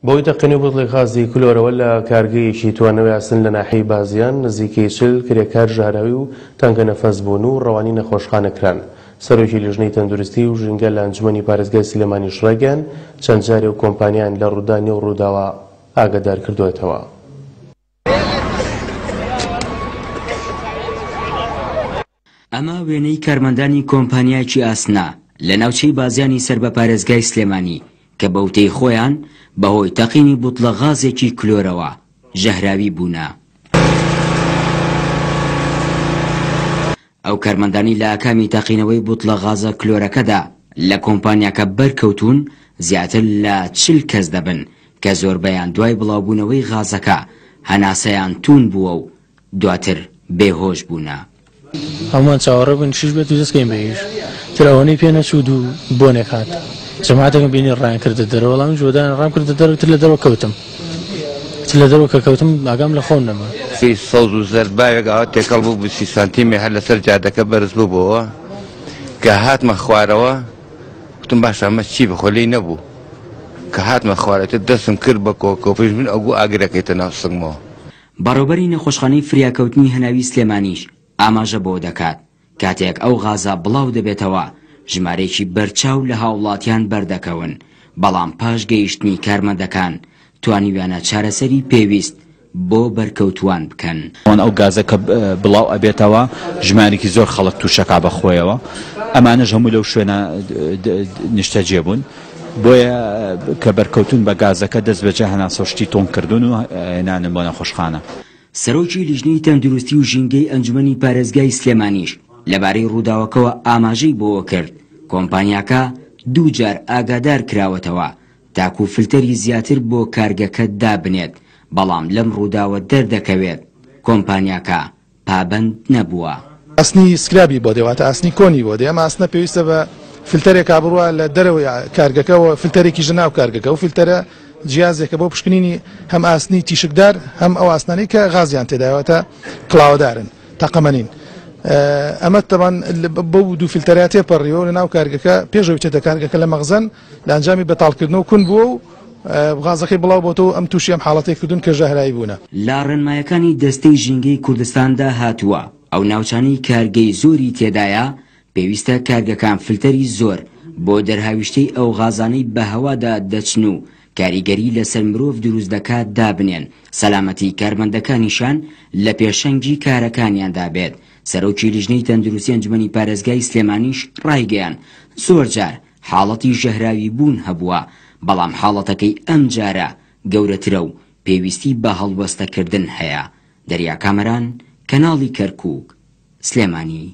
بەهۆی تەقینەوەی بوتڵی غازی کلۆرەوە لە کارگەیەکی توانەوەی ئاسن لە ناحیەی بازیان، نزیکەی 40 کرێکار ژەهراوی و تەنگەنەفەس بوون و ڕەوانەی نەخۆشخانە کران. سەرۆکی لیژنەی تەندروستی و ژینگە لە ئەنجومەنی پارێزگای سلێمانیش ڕایگەیاند، چەند جارێ و کۆمپانیایان لە ڕوودانی ئەو ڕووداوە ئاگادار کردووەتەوە. ئەمە وێنەی کارمەندانی کۆمپانیایەکی ئاسنە لە ناوچەی بازیانی سەر بە پارێزگای سلێمانی کە بەوتەی خۆیان بەهۆی تەقینی بوتڵە غازێکی کلۆرەوە ژەهراوی بوونە. ئەو کارمەندانەی لە ئاکامی تەقینەوەی بوتڵە غازە کلۆرەکەدا لە کۆمپانیاکە بەرکەوتوون زیاتر لە 40 کەس دەبن کە زۆربەیان دوای بڵاوبوونەوەی غازەکە هەناسەیان توون بووە و دواتر بێهۆش بوونە. هەموومان چاوەڕێ بووین شیش بێت و دەست کەین بە ئیش. تر ئەوەنەی پێ نەچوو دوو بۆنێک هات. جەماعەتێکم بینی ڕایان کردە دەرەوە، وەڵا منیش وەدایان ڕام کردە دەرەوە، تر لە دەرەوە کەوتم. تر لە دەرەوە کە کەوتم ئاگام لە خۆم نەما. سەوز و زەرد باوێک ئاوا تێکەڵ بوو بوو سی سانتیمێ هەر لەسەر جادەکە بەرز ببۆوە. کە هاتمە خوارەوە گوتم باشە ئەمە چی بخۆ لێی نەبوو. کە هاتمە خوارەوە تر دەستم کرد بە کۆکۆپیش من ئەوگو ئاگرەکەیتە ناو سنگمەوە. بەڕێوبەری نەخۆشخانەی فریاکەوتنی هەناوی سلێمانیش ئاماژە بەوە دەکات، کاتێک ئەو غازە بڵاو دەبێتەوە ژمارەیەکی بەرچاو لە هاوڵاتیان بەردەکەون، بەڵام پاش گەیشتنی کارمەندەکان توانیویانە چارەسەری پێویست بۆ بەرکەوتووان بکەن. ئەو گازە کە بڵاو ئەبێتەوە ژمارێکی زۆر خەڵک تووشەکا بە خۆیەوە، ئەمانەش هەموو لەو شوێنە نیشتەجێ بوون. بۆیە کە بەرکەوتوون بە گازەکە دەست بەجێ هەناسەو شتی تۆن کردوون و هێنانن بۆ نەخۆشخانە. سەرۆکی لیژنەی تەندروستی و ژینگەی ئەنجومەنی پارێزگای سلێمانیش لەبارەی ڕووداوەکەوە ئاماژەی بەوەکرد، کۆمپانیاکە دووجار ئاگادار کراوەتەوە تاکو فلتەری زیاتر بۆ کارگەکە دابنێت، بەڵام لەم ڕووداوە دەردەکەوێت کۆمپانیاکە پابەند نەبووە. ئاسنی سکرابی بۆ دێ واتە ئاسنی کۆنی بۆ دێ، ئەم ئاسنە پێویستە بە فلتەرێکا بڕوا لە دەرەوەی کارگەکە و فلتەرێکیش لە ناو کارگەکە، ئەو فلتەرە جیازێکە بۆ پشکنینی هەم ئاسنی تیشکدار هەم ئەو ئاسنانەی کە غازیان تێدایە واتە کڵاوەدارن تەقەمەنین. ئەمە تەبان بەو دوو فلتەرە تێپەڕیوە و لە ناو کارگەکە پێش ئەوەی بچێتە کارگەکە لە مەخزەن لە ئەنجامی بەتاڵکردنەوە کون بووە و غازەکەی بڵاو بۆتەوە و ئەم تووشی ئەم حاڵەتەی کردوون کە ژەهراوی بوونە. لە ڕێنمایەکانی دەستەی ژینگەی کوردستاندا هاتووە، ئەو ناوچانەی کارگەی زۆری تێدایە، پێویستە کارگەکان فلتەری زۆر بۆ دەرهاویشتەی ئەو غازانەی بە هەوادا دەچن و کاریگەری لەسەر مرۆڤ دروست دەکات دابنێن، سەلامەتی کارمەندەکانیشیان لە پێشەنگی کارەکانیاندا بێت. سەرۆکی لیژنەی تەندروستی ئەنجومەنی پارێزگای سلێمانیش ڕایگەیاند، زۆرجار حاڵەتی ژەهراوی بوون هەبووە، بەڵام حاڵەتەکەی ئەمجارە گەورەترە و پێویستی بە هەڵوەستەکردن هەیە. دەریا کامەران، کەناڵی کەرکوک، سلێمانی.